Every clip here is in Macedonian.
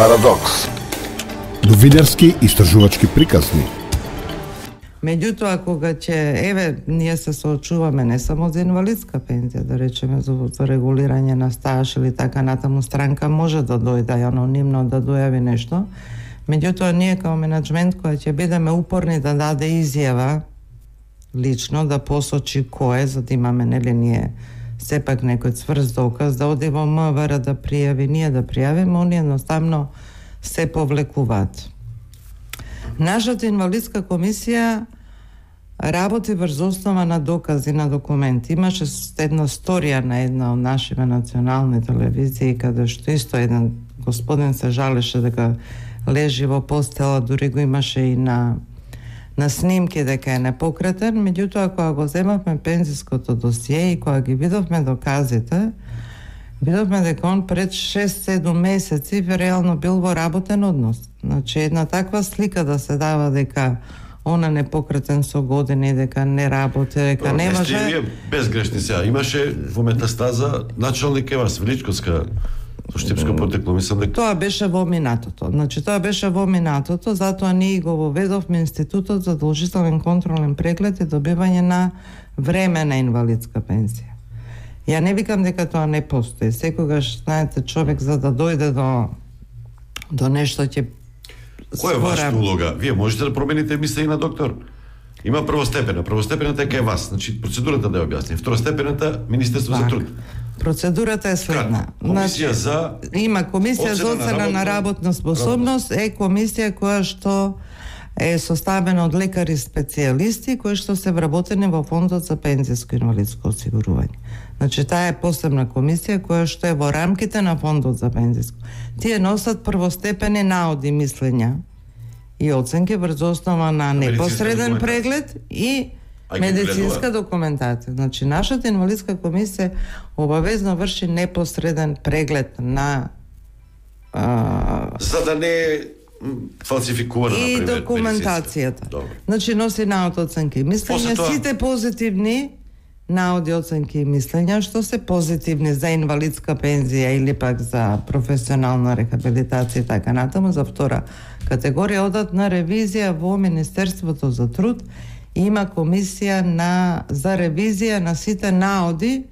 Парадокс. Новинарски истражувачки приказни. Меѓутоа, кога ние се соочуваме не само за инвалидска пензија, да речеме за регулирање на стаж или така натаму, странка може да дојде анонимно да дојави нешто. Меѓутоа, ние како менеджмент која ќе бидеме упорни да даде изјава лично, да посочи кој е, за да имаме, нели, ние сепак некој цврст доказ, да оди во МВР да пријави, ние да пријавиме, они едноставно се повлекуваат. Нашата инвалидска комисија работи врз основа на докази, на документи. Имаше една сторија на една од нашите национални телевизии, каде што исто еден господин се жалеше дека лежи во постела, дури го имаше и на снимки дека е непокретен. Меѓутоа, кога го земавме пензиското досие и кога ги видовме доказите, видовме дека он пред 6-7 месеци реално бил во работен однос. Значи, една таква слика да се дава дека она непокретен со години, дека не работи, дека не може... Не сте безгрешни сега. Имаше во метастаза началник Евас Величковска со штипско потекло, мислам дека... Тоа беше во минатото. Значи, тоа беше во минатото, затоа ние го воведовме Институтот за задолжителен контролен преглед и добивање на времена инвалидска пензија. Ја не викам дека тоа не постои. Секогаш, знаете, човек за да дојде до нешто ќе... Која е вашата улога? Вие можете да промените мислење на доктор? Има првостепена. Првостепената е кај вас. Значи, процедурата да ја објасни. Второстепената, Министерство за труд. Процедурата е следна. Комисија за... Има комисија за оцена на работна способност, е комисија која што е составена од лекари специјалисти кои што се вработени во Фондот за пензиско инвалидско осигурување. Значи, таа е посебна комисија која што е во рамките на Фондот за пензиско. Тие носат првостепени наоди, мислења и оценки врз основа на непосреден преглед и медицинска документација. Значи, нашата инвалидска комисија обавезно врши непосреден преглед на за да не фалсификувана, и например, документацијата. Значи, носи наод, оценки и мислења, сите позитивни наоди, оценки и мислења, што се позитивни за инвалидска пензија или пак за професионална рехабилитација и така натаму, за втора категорија одат на ревизија во Министерството за труд. Има комисија за ревизија на сите наоди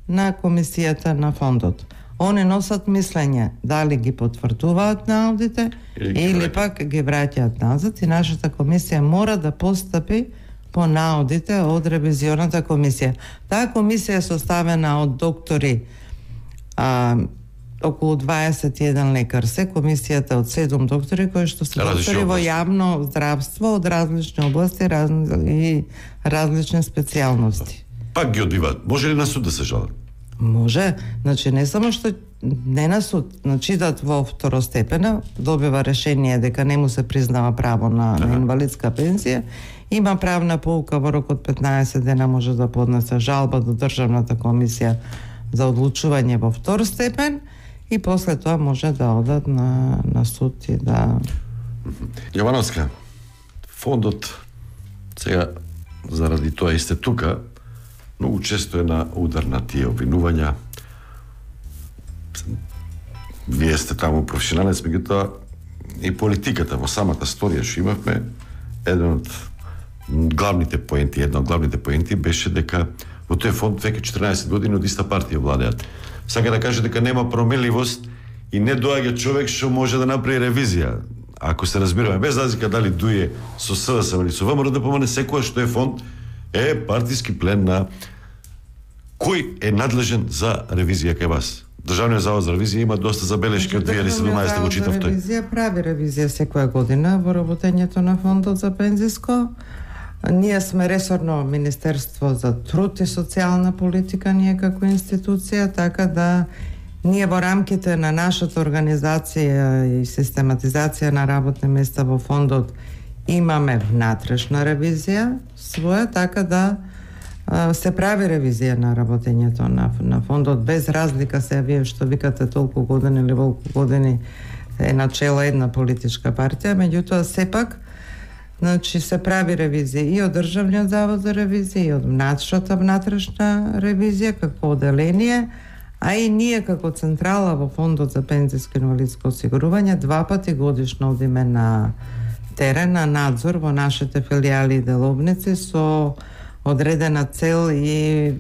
на комисијата на фондот. Они носат мислење дали ги потврдуваат наодите или пак ги враќаат назад, и нашата комисија мора да постапи по наодите од ревизионата комисија. Таа комисија е составена од доктори, околу 21 лекар се, комисијата од 7 доктори кои што се доктори во јавно здравство од различни области и различни специјалности. Пак ги одбиваат. Може ли на суд да се жалат? Може. Значи, не само што не на суд, значи идат во второстепена, добива решение дека не му се признава право на инвалидска пензија, има правна поука во рок од 15 дена може да поднесе жалба до Државната комисија за одлучување во втор степен и после тоа може да одат на суд и да... Јовановска, фондот сега заради тоа и сте тука, многу често е на удар на тие обвинувања. Вие сте таму професионалец, меѓутоа и политиката во самата сторија што имавме, една од главните поенти беше дека во тој фонд веќе 14 години од иста партија владеат. Сака да каже дека нема променливост и не доаѓа човек што може да направи ревизија. Ако се разбираме, без разлика дали дуе со СДСМ или со ВМРО да помане, секоја што е фонд е партиски плен на кој е надлежен за ревизија кај вас. Државниот завод за ревизија има доста забелешки од 2017 го читав тој. Ревизија прави ревизија секоја година во работењето на Фондот за пензиско. Ние сме ресорно Министерство за труд и социјална политика, ние како институција, така да ние во рамките на нашата организација и систематизација на работни места во фондот имаме внатрешна ревизија своја, така да се прави ревизија на работењето на фондот, без разлика се вие што викате толку години или волку години е начела една политичка партија, меѓутоа сепак значи се прави ревизија и од Државниот завод за ревизија и од нашата внатрешна ревизија како оделение, А и ние како централа во Фондот за пензиско и инвалидско осигурување 2 пати годишно одиме на терен, на надзор во нашите филијали и деловници со одредена цел и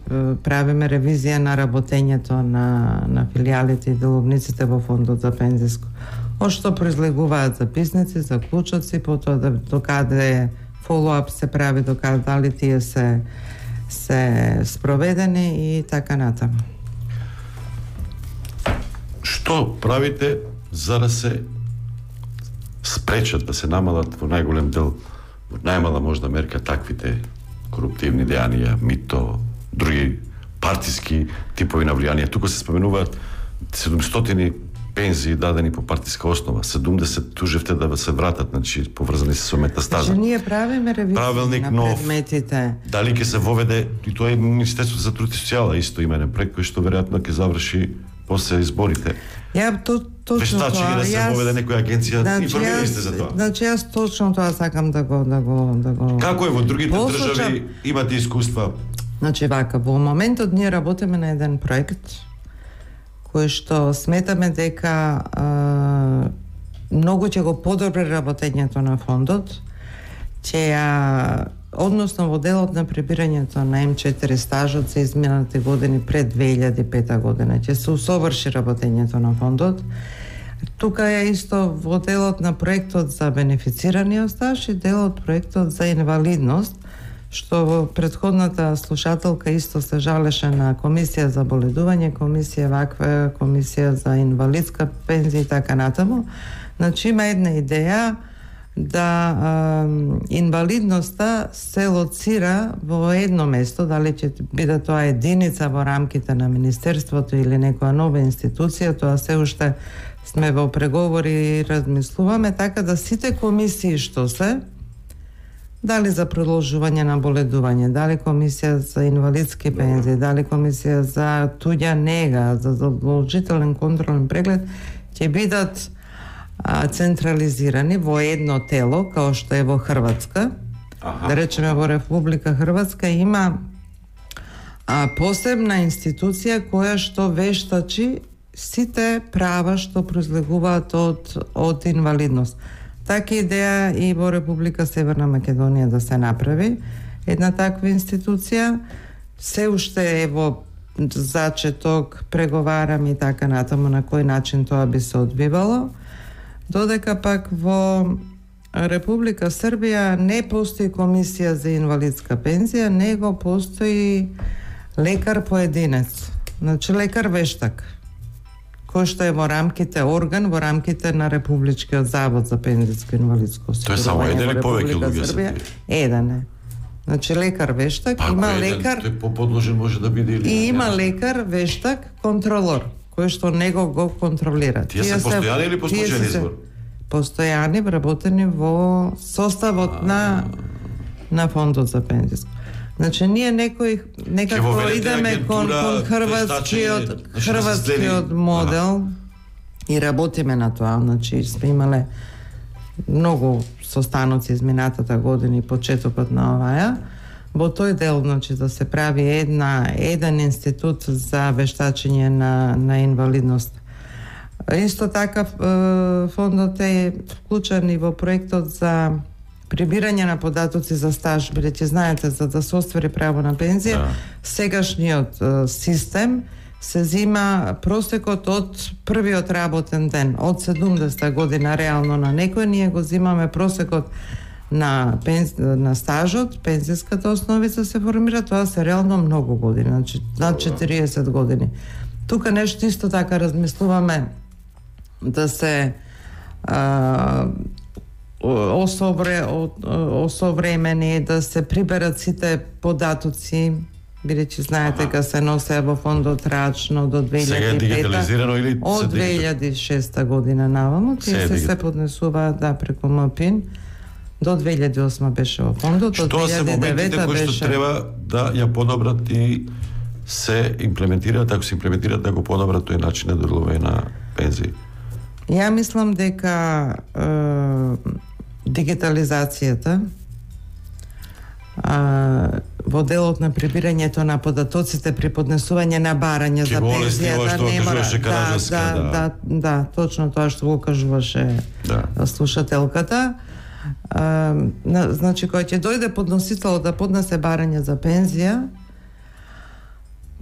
правиме ревизија на работењето на филијалите и деловниците во Фондот за пензиско. Од што произлегуваат записници, заклучоци, потоа докаде фоллоуап се прави, докаде дали тие се спроведени и така натаму. Што правите за да се спречат, да се намалат во најголем дел, во најмала можда мерка таквите коруптивни дејанија, мито, други партиски типови на влијание? Тука се споменуваат 700 пензии дадени по партиска основа, 70 тужевте да се вратат, значи поврзани се со метастаза. Значи ние правиме ревизија на предметите. Дали ќе се воведе, и тоа е Министерството за труд и социјала исто именен проект кој што веројатно ќе заврши после изборите. Точно Вештачи да се воведе некоја агенција, информирали сте за тоа? Значи јас точно тоа сакам да го Како е во другите држави, имате искуства? Значи вака, во моментот ние работиме на еден проект кој што сметаме дека многу ќе го подобри работењето на фондот, односно во делот на прибирањето на М4 стажот за изминатите години пред 2005 година ќе се усоврши работењето на фондот. Тука е исто во делот на проектот за бенефицираниот стаж и делот проектот за инвалидност, што во претходната слушателка исто се жалеше на комисија за боледување, комисија за инвалидска пензија и така натаму. Значи има една идеја да инвалидноста се лоцира во едно место, дали ќе биде тоа единица во рамките на Министерството или некоја нова институција, тоа се уште сме во преговори и размислуваме, така да сите комисии што се, дали за продолжување на боледување, дали комисија за инвалидски пензии, дали комисија за туѓа нега, за задолжителен контролен преглед, ќе бидат централизирани во едно тело, као што е во Хрватска. Да речеме во Република Хрватска има посебна институција која што вештачи сите права што произлегуваат од инвалидност. Така идеја и во Република Северна Македонија да се направи една таква институција. Се уште е во зачеток, преговарам и така натаму на кој начин тоа би се одвивало. Додека пак во Република Србија не постои комисија за инвалидска пензија, него постои лекар поединец, значи лекар вештак, кој што е во рамките орган, во рамките на Републичкиот завод за пензиско и инвалидско осигурување. Тоа е само еден или повеќе луѓе се? Еден е. Значи лекар вештак, има лекар... Тој поподложен може да биде или... И има лекар вештак контролор, кој што него го контролира. Тие се постојани или по случаен избор? Постојани, вработени во составот на Фондот за пензиско. Значи ние некако идеме кон хрватскиот модел и работиме на тоа. Значи сме имале многу состаноци изминатата година и почетокот на оваја. Во тој дел, значи, да се прави еден институт за вештачење на инвалидност. Исто така фондот е вклучен и во проектот за прибирање на податоци за стаж, бидејќи знаете, за да се оствари право на пензија, сегашниот систем се зима просекот од првиот работен ден, од 70 година реално на некој, ние го зимаме просекот на стажот, пензиската основица се формира, тоа се реално многу години, значи над 40 години. Тука нешто исто така размислуваме да се осовремени, да се приберат сите податоци, бидејќи знаете дека се носе во фондот рачно до 2005. Сега е дигитализирано или од 2006 година наваму, тие се поднесуваат преку МПИН. До 2008 беше во фондот, од 2009 беше... Што се моментите кои што треба да ја подобрат и се имплементираат, ако се имплементираат, да го подобрат тој начин на делување на пензии? Ја мислам дека дигитализацијата во делот на прибирањето на податоците при поднесување на барање за пензија, не мора. Да, точно тоа што го кажуваше слушателката. Значи, кој ќе дојде подносител да поднесе барање за пензија,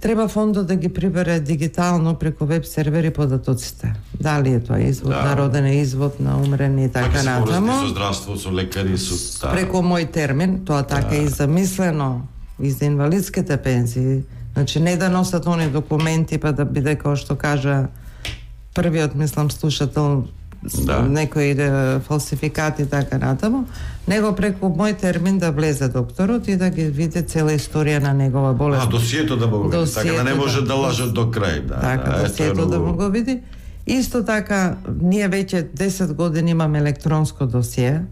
треба фондот да ги прибере дигитално преку веб сервери податоците. Дали е тоа извод на роден, извод на умрен и така натаму. Со здравство, со лекари, со преку мој термин, тоа така и замислено и за инвалидските пензии. Значи не да носат они документи па да биде како што кажа првиот, мислам, слушател, некои фалсификати така натаму, него преку мој термин да влезе докторот и да ги види цела историја на негова болест. Досието да го види, така да не може да лажат до крај. Така, досието да го види. Исто така, ние веќе 10 години имаме електронско досие,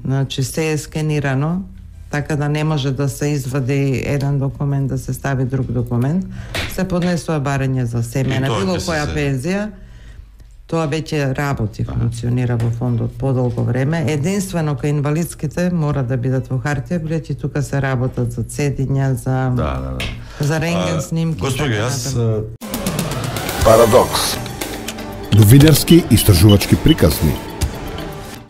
значи се е скенирано, така да не може да се извади еден документ, да се стави друг документ. Се поднесува барање за семејна, било која пензија. Тоа веќе работи, функционира во фондот подолго време. Единствено кај инвалидските мора да бидат во хартија, билејќи тука се работат за цедиња, за рентген снимки. Господи, јас Парадокс. Новинарски истражувачки приказни.